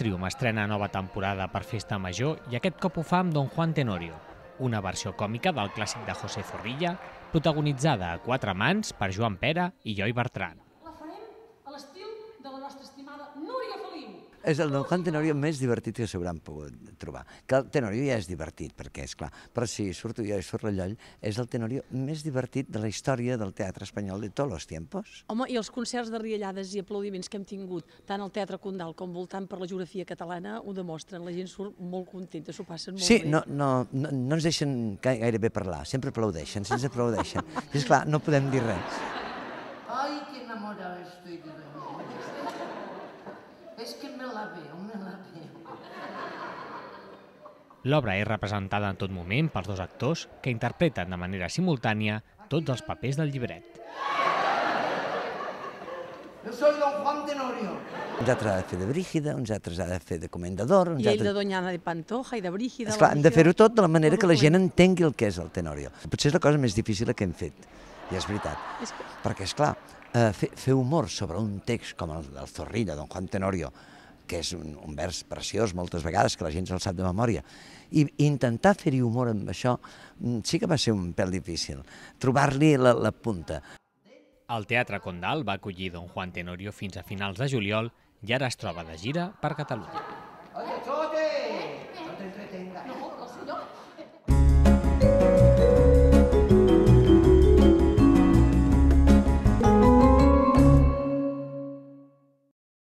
Trium estrena nova temporada per Festa Major i aquest cop ho fa amb Don Juan Tenorio, una versió còmica del clàssic de José Zorrilla, protagonitzada a quatre mans per Joan Pera i Eloi Bertran. La farem a l'estil de la nostra estimada Núria Feliu. És el Don Juan Tenorio més divertit que s'hauran pogut trobar. Que el Tenorio ja és divertit, perquè és clar, però si surto jo i surt l'Alloll, és el Tenorio més divertit de la història del teatre espanyol de tots els tiempos. Home, i els concerts de riallades i aplaudiments que hem tingut, tant al Teatre Condal com voltant per la geografia catalana, ho demostren. La gent surt molt contenta, s'ho passen molt bé. Sí, no ens deixen gairebé parlar, sempre aplaudeixen, ens aplaudeixen. I esclar, no podem dir res. Ay, qué enamorada estoy de la niña. Es que me la veo, me la veo. L'obra és representada en tot moment pels dos actors que interpreten de manera simultània tots els papers del llibret. Yo soy Don Juan Tenorio. Uns altres ha de fer de Brígida, uns altres ha de fer de Comendador... I ell de Doñana de Pantoja i de Brígida... Esclar, hem de fer-ho tot de la manera que la gent entengui el que és el Tenorio. Potser és la cosa més difícil que hem fet, i és veritat. Perquè, esclar, fer humor sobre un text com el del Zorrilla, Don Juan Tenorio, que és un vers preciós moltes vegades, que la gent se'l sap de memòria, i intentar fer-hi humor amb això sí que va ser un pèl difícil, trobar-li la punta. El Teatre Condal va acollir Don Juan Tenorio fins a finals de juliol i ara es troba de gira per Catalunya.